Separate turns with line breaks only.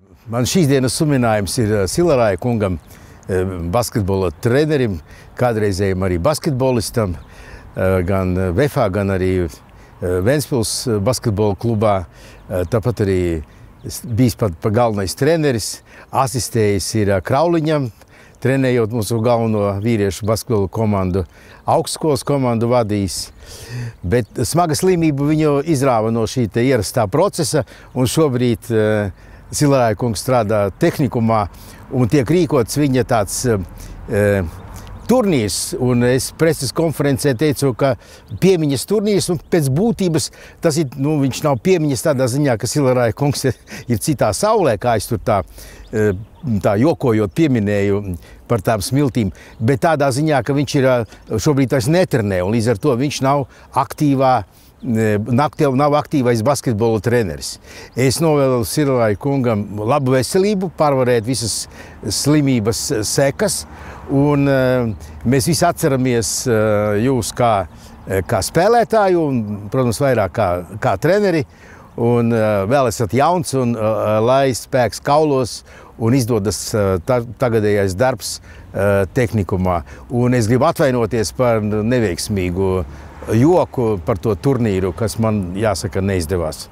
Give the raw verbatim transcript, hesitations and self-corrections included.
Man šīs dienas suminājums ir Silarāja kungam, basketbola trenerim, kādreizējiem arī basketbolistam, gan Vefā, gan arī Ventspils basketbola klubā. Tāpat arī bijis pat pa galvenais treneris, asistējis ir Krauliņam, trenējot mūsu galveno vīriešu basketbola komandu, augstskolas komandu vadījis. Bet smaga slimība viņu izrāva no šī te ierastā procesa, un šobrīd uh, Silarāja kungs strādā tehnikumā, un tiek rīkots viņa tāds uh, turnīrs, un es preses konferencē teicu, ka piemiņas turnīrs, un pēc būtības tas ir, nu, viņš nav piemiņas tādā ziņā, ka Silarāja kungs ir, ir citā saulē, kā es tur tā, tā jokojot pieminēju par tām smiltīm, bet tādā ziņā, ka viņš ir šobrīd vairs netrenē, un līdz ar to viņš nav aktīvā, nav aktīvais basketbola treneris. Es novēlu Silarāja kungam labu veselību, pārvarēt visas slimības sekas, un mēs visi atceramies jūs kā, kā spēlētāju, un, protams, vairāk kā, kā treneri, un vēl esat jauns, un lai spēks kaulos, un izdodas ta, tagadējais darbs tehnikumā. Un es gribu atvainoties par neveiksmīgu joku par to turnīru, kas man, jāsaka, neizdevās.